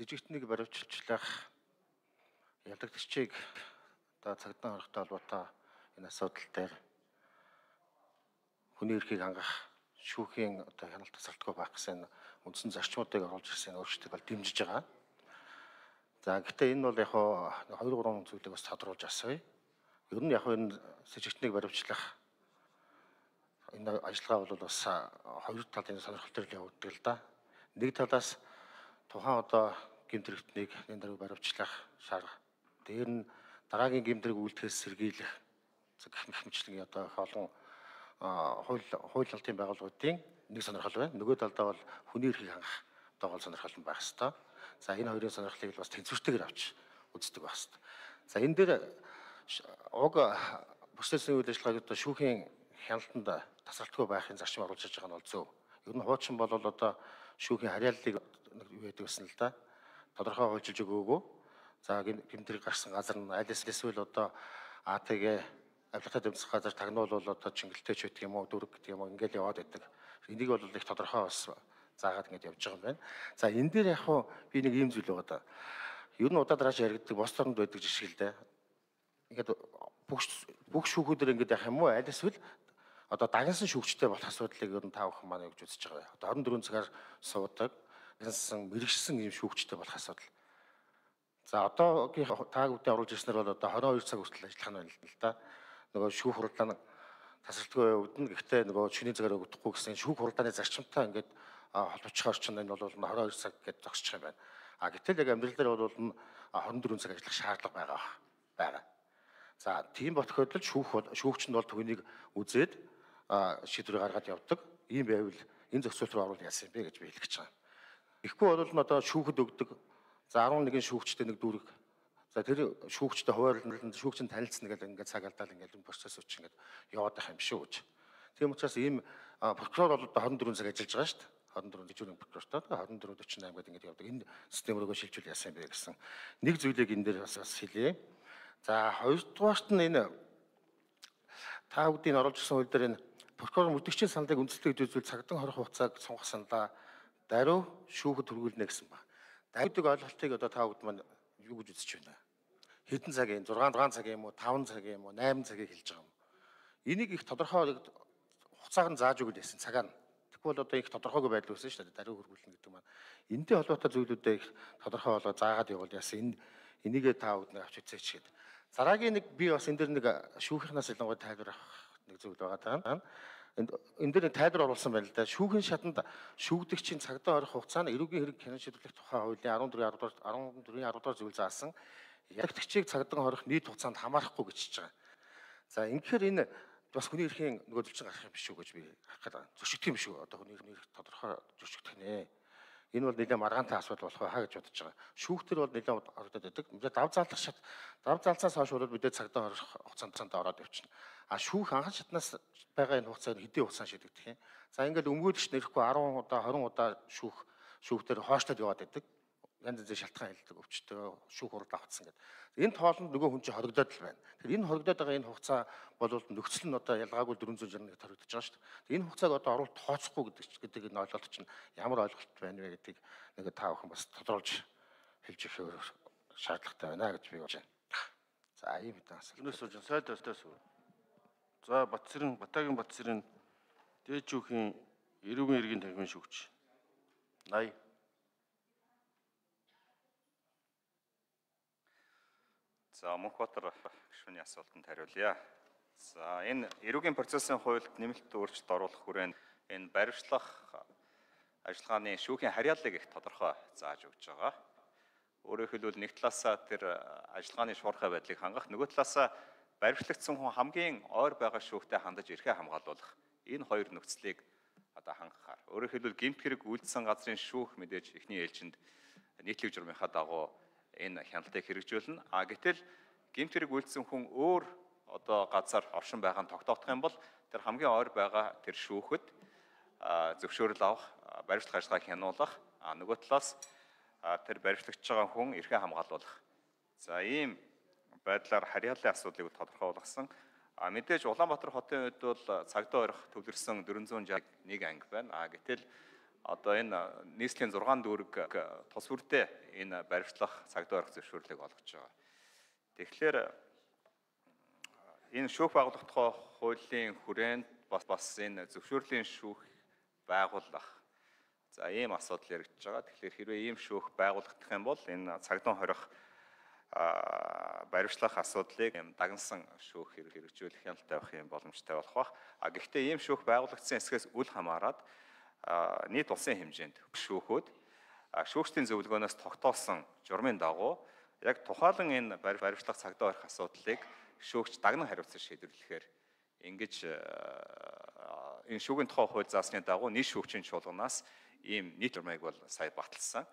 сэжигтнийг баривчлах ялагдагчийг одоо цагдаа хорхтой холбоотой энэ асуудал дээр хүний эрхийг хангах шүүхийн одоо хяналт тасралтгүй байх гэсэн үндсэн зарчмуудыг оруулж ирсэн өөрчлөлтийг бол дэмжиж байгаа. За гэхдээ энэ бол яг 2-3 зүйлийг бас тодруулж асууя. Ер нь яг энэ сэжигтнийг баривчлах энэ ажиллагаа бол бас хоёр талын сонирхол төр явагддаг л да. Нэг талаас тухайн одоо гэмт хэрэгтнийг энэ даруй баривчлах шаарга. Дээр нь дараагийн гэмт хэрэг үйлдэхээс сэргийлэх гэх мэтчлэн одоо олон хууль алтын байгууллагуудын нэг сонирхол байна. Нөгөө талдаа бол хүний эрхийг хангах одоо гол сонирхол нь байх ёстой. За энэ хоёрын сонирхлыг бас тэнцвэртэйгээр авч үздэг байх ёстой. За энэ дээр уг бүсэлсэн үйл ажиллагааг одоо шүүхийн хяналтанд тасралтгүй байхын зарчим оруулж байгаа нь бол зөв. Ер нь хуучин бол одоо шүүхийн харьяаллыг юу гэдэг гэсэн л да. Тодорхой хуульчилж өгөөгүй. За гэмт хэрэг гарсан газар нь аль эсвэл одоо АТГ авилгатай тэмцэх газар тагнуул бол одоо чингэлтэй ч гэдэг юм уу, дүрэг гэдэг юм уу ингээл яваад байдаг. Энийг бол их тодорхой бас заагаад ингэж явж байгаа юм байна. За энэ дээр яг би нэг ийм зүйл байгаа да. Ер нь удаад рааш яригддаг бос оронд байдаг жишээ л дээ. Ингээд бүх шүүхүүдэр ингэж явах юм уу? Аль эсвэл одоо дагнасан шүүгчтэй болох асуудлыг ер нь та бүхэн маань гэж үзэж байгаа. Одоо 24 цагаар суудаг, дагнасан мэрэгчсэн ийм шүүгчтэй болох асуудал. За одоогийн та бүхэн оруулж ирснээр бол одоо 22 цаг хүртэл ажиллах нь байна л да. Нөгөө шүүх хурлаа тасралтгүй явагдана. Гэхдээ нөгөө чиний цагаар өгөхгүй гэсэн шүүх хурлааны зарчимтай ингээд холбоцох орчин энэ бол 22 цаг гэж зогсчих юм байна. Гэтэл яг амьдрал дээр бол 24 цаг ажиллах шаардлага байгаа. За тийм бот тохиолдолд шүүгч нь бол түүнийг үзээд шийдвэр гаргаад явдаг. Ийм байвал энэ зохицуулт руу оруулах яасан юм бэ гэж би хэлэх гэж байгаа. Ихгүй бол одоо шүүхэд өгдөг. За 11 шүүгчтэй нэг дүүрэг. За тэр шүүгчтэй хуваарлан шүүгч нь танилцсан гэдэг ингээд цаг алдаал ингээд энэ процесс үуч ингээд яваад байх юм шүү гэж. Тийм учраас ийм прокурор бол 24 цаг ажиллаж байгаа шүү дээ. 24 дэжүүрийн прокурортой 24-48 гэдэг ингээд явдаг. Энэ систем рүүгээ шилжүүл яасан юм бэ гэсэн нэг зүйлийг энэ дээр бас хэлье. За хоёрдугаарт нь энэ та бүдийн оруулж ирсэн хууль дээр энэ прокурор мөрдөгчийн саналыг үндэслэх үзүүл цагдаа хорих хугацааг сунгах саналаа даруй шүүхэд хүргүүлнэ гэсэн ба. Даруйдаг ойлголтыг одоо та бүд маань юу гэж үзэж байна? Хэдэн цагийн 6 цагийн юм уу 5 цагийн юм уу 8 цагийг хэлж байгаа юм. Энийг их тодорхой хугацааг нь зааж өгөл яасан цагаар нь. Тэгвэл одоо их тодорхойгүй байдал үүсэн шүү дээ. Даруй хүргүүлнэ гэдэг маань. Энэтэй холбоотой зүйлүүдээ их тодорхой болоо заагаад явуул яасан. Энийгээ та бүд нэг авч үзээч гээд. Дараагийн нэг би бас энэ дэр нэг шүүхийнхнаас илангуй тайлбар авах нэг зүйл байгаа даа. Энэ дээр тайлбар оруулсан байна л да. Шүүхийн шатанд шүүгдэгчийн цагдаа орох хугацаа нь эрүүгийн хэрэг хяналт шийдвэрлэх тухай хуулийн 14-10 дугаар зүйл заасан ялагдагчийг цагдаа орох нийт хугацаанд хамаарахгүй гэж хэлж байгаа. За ингэхээр энэ бас хүний эрхийн нөгөө зөвчн гарах юм биш үү гэж би харах гэдэг. Зөрчигдөх юм шүү. Одоо хүний эрх тодорхой зөрчигдөх нэ. Энэ бол нэлээд маргаантай асуудал болох байхаа гэж бодож байгаа. Шүүхтэр бол нэлээд орогдоод байдаг. Мэдээ дав залцаас хойш бол мэдээ цагдаа орох хугацаанд ороод явчихна. Шүүх анхан шатнаас байгаа энэ хугацааг хэдийн хугацаанд шийдэгдэх юм. За ингээд өмгөөлөгч нэрэхгүй 10 удаа 20 удаа шүүхтэр хойшлоод яваад байдаг. Янз янзын шалтгаан хэлдэг өвчтөө шүүх хурал авцсан гэдэг. Энэ тоолонд нөгөө хүн чинь хоригдоод л байна. Тэгэхээр энэ хоригдоод байгаа энэ хугацаа бол нөхцөл нь одоо ялгаагүй 461-т хоригдож байгаа шүү дээ. Энэ хугацааг одоо оруулалт тооцохгүй гэдэг энэ ойлголт чинь ямар ойлголт байна вэ гэдгийг нэг та бүхэн бас тодруулж хэлж өгөх шаардлагатай байна гэж би бодож байна. За ийм хэдэн асуулт. Өнөөс сууж сайд өстөөс. За Батагийн Батсэрийн дээд шүүхийн эрүүгийн иргэн танхимын шүүгч 80. За Мөнхбаатар гишүүний асуултанд хариулъя. За энэ эрүүгийн процессын хуульд нэмэлт өөрчлөлт оруулах хүрээнд энэ баривчлах ажиллагааны шүүхийн харьяаллыг их тодорхой зааж өгч байгаа. Өөрөөр хэлбэл нэг талаасаа тэр ажиллагааны шуурхай байдлыг хангах, нөгөө талаасаа баривчлагдсан хүн хамгийн ойр байгаа шүүхтэй хандаж эрхээ хамгаалуулах энэ хоёр нөхцөлийг одоо хангахаар. Өөрөөр хэлбэл гэмт хэрэг үйлдсэн газрын шүүх мэдээж эхний ээлжинд нийтлэг журмынхаа дагуу энэ хяналтыг хэрэгжүүлнэ. Гэтэл гэмт хэрэг үйлдсэн хүн өөр одоо газар оршин байгаа нь тогтоогдох юм бол тэр хамгийн ойр байгаа тэр шүүхэд зөвшөөрөл авах, баривчлах ажиллагааг хянуулах, нөгөө талаас тэр баривчлагдж байгаа хүн эрхээ хамгаалуулах. За ийм байдлаар харьяаллын асуудлыг тодорхойлгосон. Мэдээж Улаанбаатар хотын үед бол цагдаа орох төвлөрсөн 461 анги байна. Гэтэл одоо энэ нийслэлийн 6 дүүрэг тус бүрдээ энэ баримтлах цагдаа орох зөвшөөрлийг олгож байгаа. Тэгэхээр энэ шүүх байгуулах тухай хуулийн хүрээнд бас энэ зөвшөөрлийн шүүх байгуулах. За ийм асуудал яригдж байгаа. Тэгэхээр хэрвээ ийм шүүх байгуулагдах юм бол энэ цагдаа хорих баримтлах асуудлыг дагнасан шүүх хэрэгжүүлэх хяналттай байх юм боломжтой болох бах. Гэхдээ ийм шүүх байгуулагдсан эсгээс үл хамааран нийт улсын хэмжээнд шүүхүүд шүүгчдийн зөвлөгөөнөөс тогтоосон журмын дагуу яг тухайлан энэ баримтлах цагдаа орох асуудлыг шүүгч дагнан хариуцсан шийдвэрлэхээр ингэж энэ шүүгийн тухай хууль заасны дагуу нийт шүүгчийн чуулганаас ийм нийт журмыг бол сая баталсан.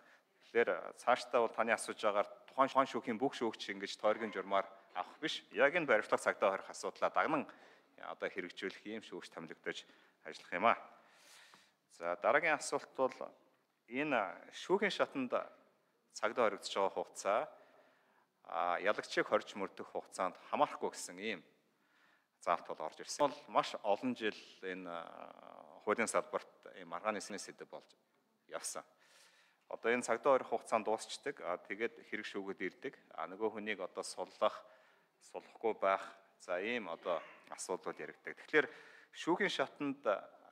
Тэгэхээр цаашдаа бол таны асууж байгаагаар тухайн шүүхийн бүх шүүгч ингэж тойргийн журмаар авах биш. Яг энэ баримтлах цагдаа хорих асуудлаа дагнан одоо хэрэгжүүлэх ийм шүүгч томилогдож ажиллах юм аа. За дараагийн асуулт бол энэ шүүхийн шатанд цагдаа хоригдож байгаа хугацаа ялагчийг хорж мөрдөх хугацаанд хамаарахгүй гэсэн ийм заалт бол орж ирсэн. Бол маш олон жил энэ хуулийн салбарт ийм маргааны сэдэв болж явсан. Одоо энэ цагдаа хорих хугацаанд дуусчдаг. Тэгээд хэрэг шүүгүүд ирдэг. Нөгөө хүнийг одоо суллахгүй байх. За ийм одоо асуудал яригддаг. Тэгэхээр шүүхийн шатанд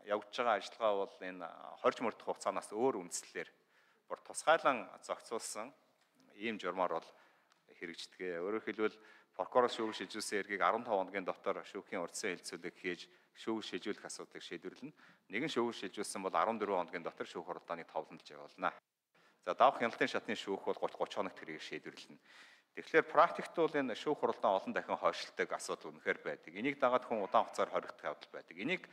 явж байгаа ажиллагаа бол энэ хорж мөрдөх хугацаанаас өөр үндслээр бүр тусгайлан зохицуулсан ийм журмаар бол хэрэгждэг. Өөрөөр хэлбэл прокурор шүүг шилжүүлсэн эргийг 15 хоногийн дотор шүүхийн урдсан хэлцүүлэг хийж шүүг шилжүүлэх асуудлыг шийдвэрлэнэ. Нэгэн шүүг шилжүүлсэн бол 14 хоногийн дотор шүүх хуралдааныг товлондож явуулна. За давах хяналтын шатны шүүх бол 30 хоногт тэрийг шийдвэрлэнэ. Тэгэхээр практикт бол энэ шүүх хуралдаан олон дахин хойшлдог асуудал үнэхээр байдаг. Энийг дагаад хүн удаан хугацаар хоригдох явдал байдаг. Энийг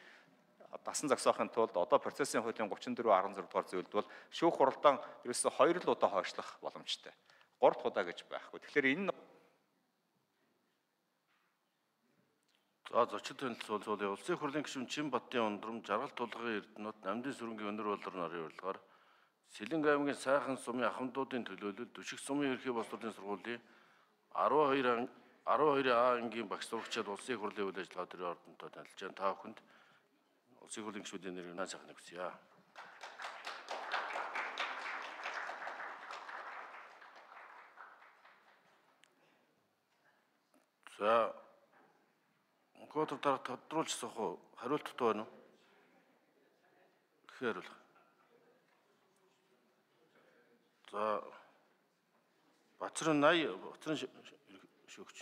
дасан зогсоохын тулд одоо процессын хуулийн 34.16 дугаар зөвлөлд бол шүүх хуралдаан ерөөсөө 2 л удаа хойшлох боломжтой. 3 дахь удаа гэж байхгүй. Тэгэхээр энэ За зочид танилцуулъя. Улсын хурлын гишүүн Чинбаттын ундрам, Жаргалт тулгын Эрдэнэт, Намдын сүрэнгийн өнөр болор нарын урилгаар Сэлэнг аймгийн сайхан сумын ахмадуудын төлөөлөл Түшиг сумын ерхий боловсролын сургуулийн 12А ангийн багш сурагчид улсын хурлын үйл ажиллагаа төрийн ордонтой танилцж байна. Та бүхэнд улсын хурлын гишүүдийн нэрээр наа сайхныг хүсье. За Гот дараа тодруулж асуух уу? Хариулттай байна уу? Хариулах. За Бацрын 80 Бацрын шүүгч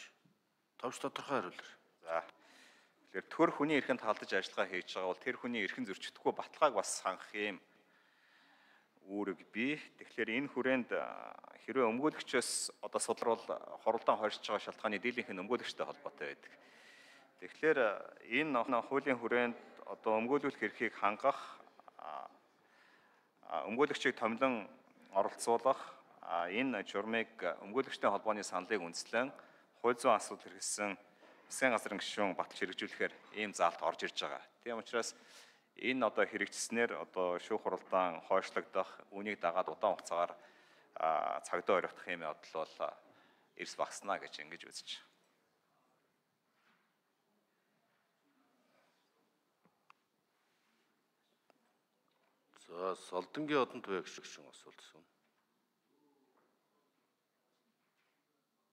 товч тодорхой хариулъя. За тэгэхээр төр хүний эрхэнд халдаж ажиллагаа хийж байгаа бол тэр хүний эрхэн зөрчигдөхгүй баталгааг бас хангах юм үүрэг бий. Тэгэхээр энэ хүрээнд хэрвээ өмгөөлөгчөөс одоо судрал хоролдоон хойшиж байгаа шалтгааны дийлэнх нь өмгөөлөгчтэй холбоотой байдаг. Тэгэхээр энэ хуулийн хүрээнд одоо өмгөөлөх эрхийг хангах, өмгөөлөгчийг томилон оролцуулах, энэ журмыг өмгөөлөгчтэй холбооны саналыг үндэслэн хууль зүйн асуудал хэрэгжсэн засгийн газрын гишүүн баталж хэрэгжүүлэхээр ийм заалт орж ирж байгаа. Тийм учраас энэ одоо хэрэгжснээр одоо шүүх хуралдаан хойшлогдох, үүнийг дагаад удаан хугацаагаар цагдаа оройдох юм явдал бол эрс багаснаа гэж ингэж үзэж. За Солдонгийн одон туяа гишүүн асуулт асууна.